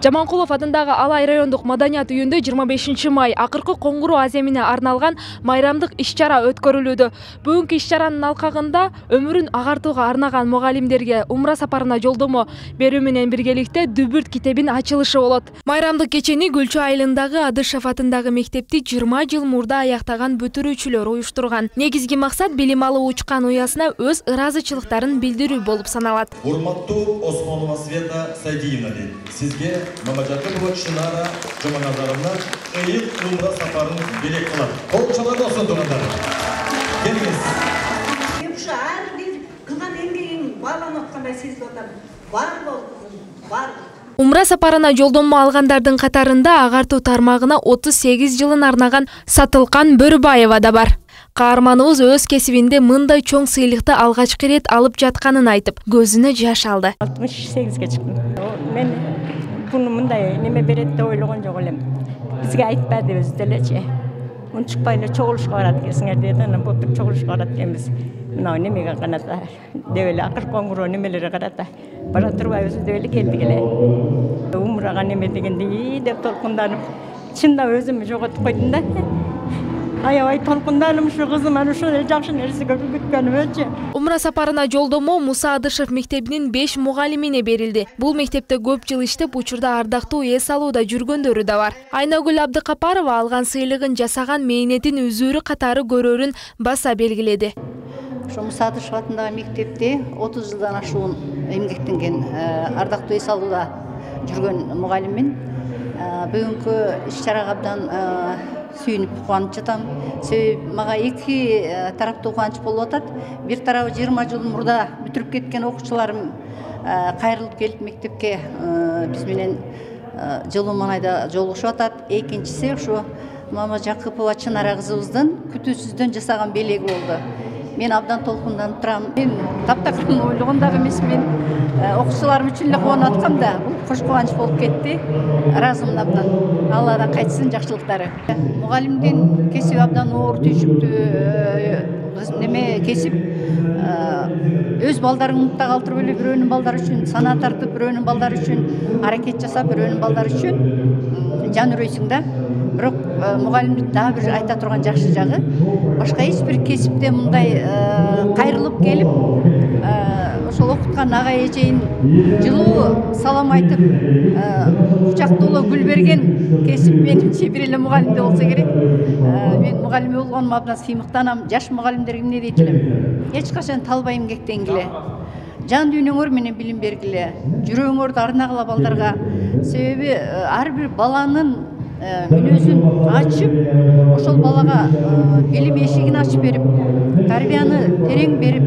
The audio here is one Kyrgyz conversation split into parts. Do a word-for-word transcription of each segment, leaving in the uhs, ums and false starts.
Жаманкулов атындагы Алай райондук маданият үйүндө жыйырма бешинчи май акыркы коңгуроо аземине арналган майрамдык иш-чара өткөрүлүүдө. Бүгүнкү иш-чаранын алкагында өмүрүн агартууга арнаган мугалимдерге умра сапарына жолдомо берүү менен биргеликте Дүбүрт китебин ачылышы болот. Майрамдык кечени Гүлчү айылындагы Адышев атындагы мектепти жыйырма жыл мурда аяктаган бүтүрүүчүлөр уюштурган. Негизги максат билим алуу учкан уясына өз ыраазычылыктарын билдирүү болуп саналат. Урматтуу Осмонова Света Сайдиевна, сизге Мамажакова Чынара Жоманазаровна ыйык умра сапарын белек кылат. Колчалар болсун тугандар. Келиңиз. Ушу ар бир кылган эмгегин бааланыпкандай сезип атам. Бар болду, бар. Умра сапарына жолдомо алгандардын катарында агартуу тармагына отуз сегиз жылын арнаган Сатылкан Бөрүбаева да бар. Каарманыбыз өз кесибинде мындай чоң сыйлыкты алгачкы ирет алып жатканын айтып, көзүнө жаш алды. алтымыш сегизге чыктым. Мен буну мындай неме берет деп ойлогон жок элем. Бизге айтпады өзү делечи. Унчукпай эле чогулушка барат экенсиңер деди. Анан былтыр чогулушка барат экенбиз. Мына немеге карата деп эле акыр коңгуроо немелери карата бара турбайбыз деп эле келдик эле. Умрага неме дегенде ии деп толкунданып, чындап өзүмү жоготуп койдум да. Аябай толкунданып ушу кызым аны ушундай жакшы нерсеге күткөнүмчү. Умра сапарына жолдомо Муса Адышев мектебинин беш мугалимине берилди. Бул мектепте көп жыл иштеп, учурда ардактуу эс алууда жүргөндөрү да бар. Айнагүл Абдыкапарова алган сыйлыгын жасаган мээнетин үзүүрү катары көрөрүн баса белгиледи. Ошо Муса Адышев атындагы мектепте отуз жылдан ашуун эмгектенген, ардактуу эс алууда жүргөн мугалиммин. Бүгүнкү иш-чарага абдан сүйүнүп кубанып жатам. Себеби мага эки тараптуу кубанч болуп атат. Бир тарабы жыйырма жыл мурда бүтүрүп кеткен окуучуларым кайрылып келип мектепке биз менен жылуу маанайда жолугушуп атат. Экинчиси ушу Мамажакова Чынара кызыбыздын күтүүсүздөн жасаган белеги болду. Мен абдан толкунданып турам. Мен таптакырын ойлогон дагы эмесмин. Окуучуларым үчүн эле кубанып аткам да, бул кош кубанч болуп кетти. Ыраазымын абдан. Алладан кайтсын жакшылыктары. Мугалимдин кесиби абдан оор түйшүктүү неме кесип. Өз балдарын умукта калтырып эле бирөөнүн балдары үчүн санаа тартып, бирөөнүн балдары үчүн аракет жасап, бирөөнүн балдары үчүн жан үрөйсүң да. Бирок мугалимдик дагы бир айта турган жакшы жагы, башка эч бир кесипте мындай кайрылып келип, ошол окуткан ага эжейин жылуу салам айтып, кучактуулуу гүл берген кесип менимче бир эле мугалимде болсо керек. Мен мугалим болгонума абдан сыймыктанам. Жаш мугалимдерге эмне дейт элем? Эч качан талбай эмгектенгиле. Жан дүйнөңөр менен билим бергиле. Жүрөгүңөрдү арнагыла балдарга. Себеби ар бир баланын мүнөзүн ачып, ошол балага билим эшигин ачып берип, тарбияны терең берип,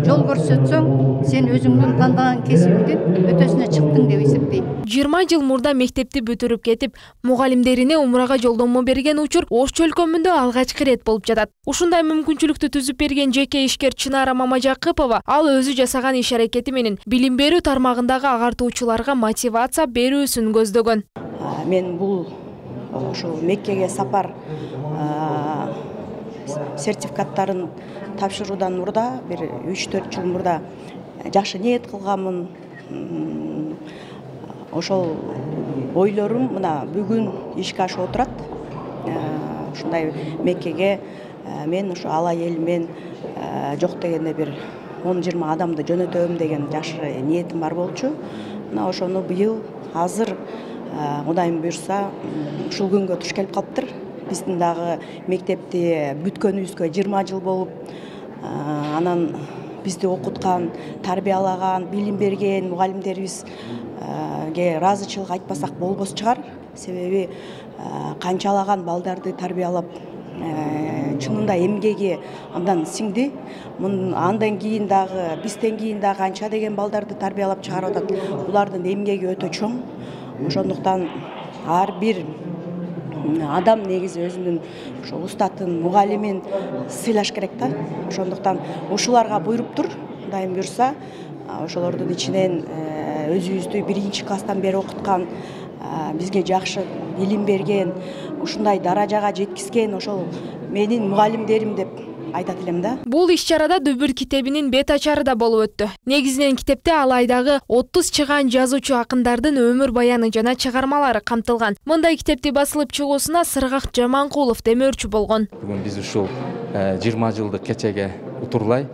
жол көрсөтсөң, сен өзүңдүн тандаган кесибиңдин өтөсүнө чыктың деп эсептейм. жыйырма жыл мурда мектепти бүтүрүп кетип, мугалимдерине умрага жолдомо берген учур Ош чөлкөмүндө алгачкы ирет болуп жатат. Ушундай мүмкүнчүлүктү түзүп берген жеке ишкер Чынара Мамажакыпова ал өзү жасаган иш аракети менен билим берүү тармагындагы агартуучуларга мотивация берүүсүн көздөгөн. Мен бул ошол Меккеге сапар сертификаттарын тапшыруудан мурда бир үч төрт жыл мурда жакшы ниет кылганмын. Ошол ойлорум мына бүгүн ишке ашып отурат. Ушундай Меккеге мен ошо Алай элимен жок дегенде бир он жыйырма адамды жөнөтөм деген жакшы ниетим бар болчу. Мына ошону быйыл азыр Кудайым буйрса ушул күнгө туш келип калыптыр. Биздин дагы мектепти бүткөнүбүзгө жыйырма жыл болуп, анан бизди окуткан, тарбиялаган, билим берген мугалимдерибизге ыраазычылык айтпасак болбос чыгар. Себеби канчалаган балдарды тарбиялап, чынында эмгеги абдан сиңди. Андан кийин дагы, бизден кийин дагы канча деген балдарды тарбиялап чыгарып атат. Булардын эмгеги өтө чоң. Ошондуктан ар бир адам негизи өзүнүн ошо устатын, мугалимин сыйлаш керек да. Ошондуктан ушуларга буйруптур, Кудайым буйрса, ошолордун ичинен өзүбүздү биринчи класстан бери окуткан, бизге жакшы билим берген, ушундай даражага жеткизген ошол менин мугалимдерим деп айтат элем да. Бул иш-чарада Дүбүр китебинин бет ачары да болуп өттү. Негизинен китепте ал айдагы отуз чыгаан жазуучу акындардын өмүр баяны жана чыгармалары камтылган. Мындай китепти басылып чыгуусуна Сыргак Жаманкулов демөөрчү болгон. Бүгүн биз ушул жыйырма жылдык кечеге утурлай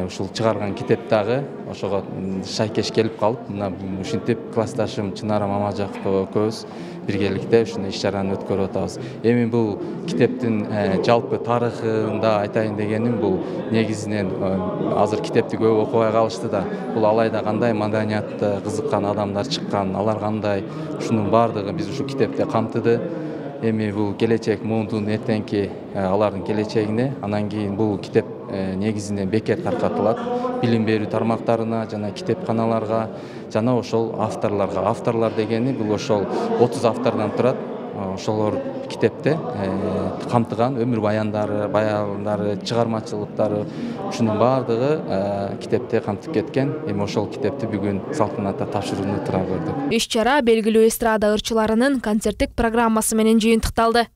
ушул чыгарган китеп дагы ошого шайкеш келип калып, мына ушинтип классташым Чынара Мамажакова экөөбүз биргеликте ушундай иш-чараны өткөрүп атабыз. Эми бул китептин жалпы тарыхында айтайын дегеним, бул негизинен азыр китепти көп окубай калышты да. Бул алайда кандай маданиятта кызыккан адамдар чыккан, алар кандай, ушунун баардыгы биз ушул китепте камтыды. Эми бул келечек муундун эртеңки алардын келечегине, анан кийин бул китеп негизинен бекер таркатылат. Билим берүү тармактарына жана китепканаларга жана ошол авторлорго. Авторлор дегени бул ошол отуз автордон турат. Ошолор китепте камтыган өмүр баяндары, баяндары, чыгармачылыктары, ушунун баардыгы китепте камтып кеткен. Эми ошол китепти бүгүн салтанатта тапшырууну тура көрдүк. Иш-чара белгилүү эстрада ырчыларынын концерттик программасы менен жыйынтыкталды.